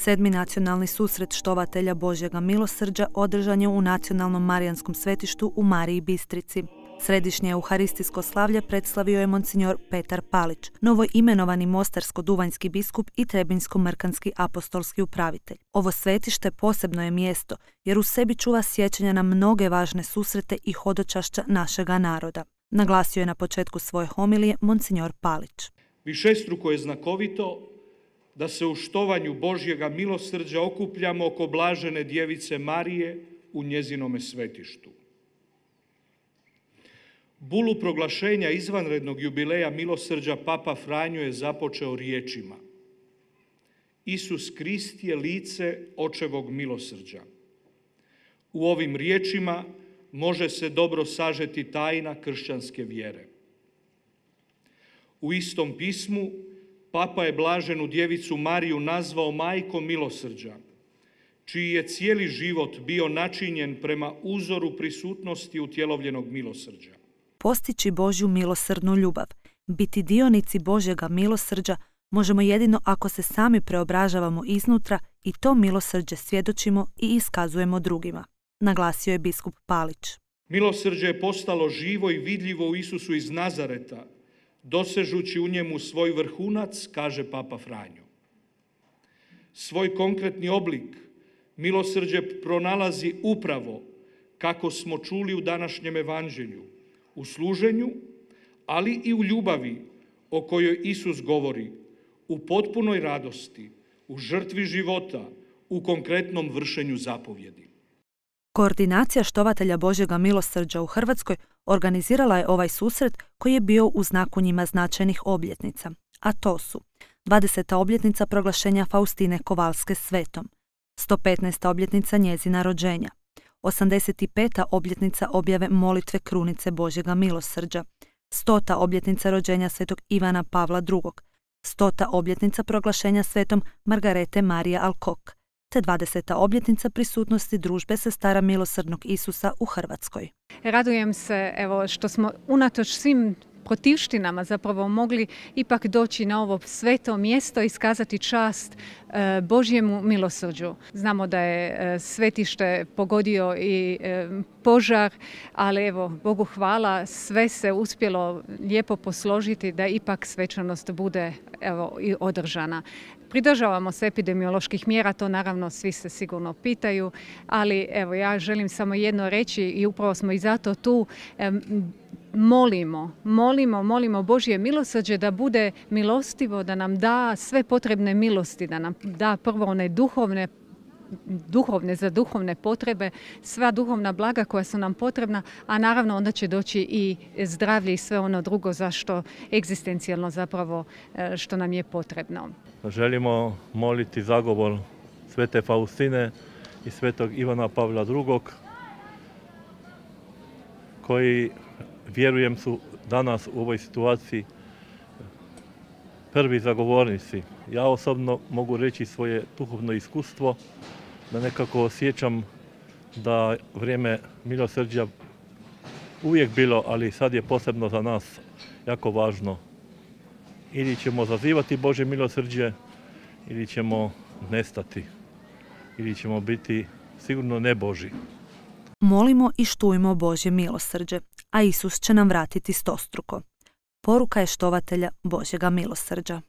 7. nacionalni susret štovatelja Božjega milosrđa održan je u Nacionalnom marijanskom svetištu u Mariji Bistrici. Središnje euharistijsko slavlje predstavio je monsignor Petar Palić, novo imenovani mostarsko-duvanjski biskup i trebinjsko-mrkanski apostolski upravitelj. Ovo svetište posebno je mjesto jer u sebi čuva sjećanja na mnoge važne susrete i hodočašća našega naroda, naglasio je na početku svoje homilije monsignor Palić. Višestruko je znakovito da se u štovanju Božjega milosrđa okupljamo oko blažene djevice Marije u njezinome svetištu. Bulu proglašenja izvanrednog jubileja milosrđa Papa Franjo je započeo riječima: Isus Krist je lice očevog milosrđa. U ovim riječima može se dobro sažeti tajna kršćanske vjere. U istom pismu Papa je blaženu djevicu Mariju nazvao majkom milosrđa, čiji je cijeli život bio načinjen prema uzoru prisutnosti utjelovljenog milosrđa. Postići Božju milosrdnu ljubav, biti dionici Božjega milosrđa možemo jedino ako se sami preobražavamo iznutra i to milosrđe svjedočimo i iskazujemo drugima, naglasio je biskup Palić. Milosrđe je postalo živo i vidljivo u Isusu iz Nazareta, dosežući u njemu svoj vrhunac, kaže Papa Franjo. Svoj konkretni oblik milosrđe pronalazi upravo, kako smo čuli u današnjem evanđelju, u služenju, ali i u ljubavi o kojoj Isus govori, u potpunoj radosti, u žrtvi života, u konkretnom vršenju zapovjedi. Koordinacija štovatelja Božjega milosrđa u Hrvatskoj organizirala je ovaj susret koji je bio u znaku njima značajnih obljetnica, a to su 20. obljetnica proglašenja Faustine Kovalske svetom, 115. obljetnica njezina rođenja, 85. obljetnica objave molitve krunice Božjega milosrđa, 100. obljetnica rođenja svetog Ivana Pavla II, 100. obljetnica proglašenja svetom Margarete Marije Alkok, te 20. obljetnica prisutnosti družbe sestara milosrdnog Isusa u Hrvatskoj. Radujem se što smo unatoč svim protivštinama zapravo mogli ipak doći na ovo sveto mjesto i iskazati čast Božjemu milosrđu. Znamo da je svetište pogodio i požar, ali Bogu hvala, sve se uspjelo lijepo posložiti da ipak svečanost bude i održana. Pridržavamo se epidemioloških mjera, to naravno svi se sigurno pitaju, ali ja želim samo jedno reći i upravo smo i zato tu. Molimo Božje milosrđe da bude milostivo, da nam da sve potrebne milosti, da nam da prvo one duhovne za duhovne potrebe, sva duhovna blaga koja su nam potrebna, a naravno onda će doći i zdravlje i sve ono drugo zašto egzistencijalno zapravo što nam je potrebno. Želimo moliti zagovor svete Faustine i svetog Ivana Pavla II, koji, vjerujem, su danas u ovoj situaciji prvi zagovornici. Ja osobno mogu reći svoje duhovno iskustvo, da nekako osjećam da vrijeme milosrđa uvijek bilo, ali sad je posebno za nas jako važno. Ili ćemo zazivati Božje milosrđe, ili ćemo nestati, ili ćemo biti sigurno ne Božji. Molimo i štujmo Božje milosrđe, a Isus će nam vratiti stostruko. Poruka je štovatelja Božjega milosrđa.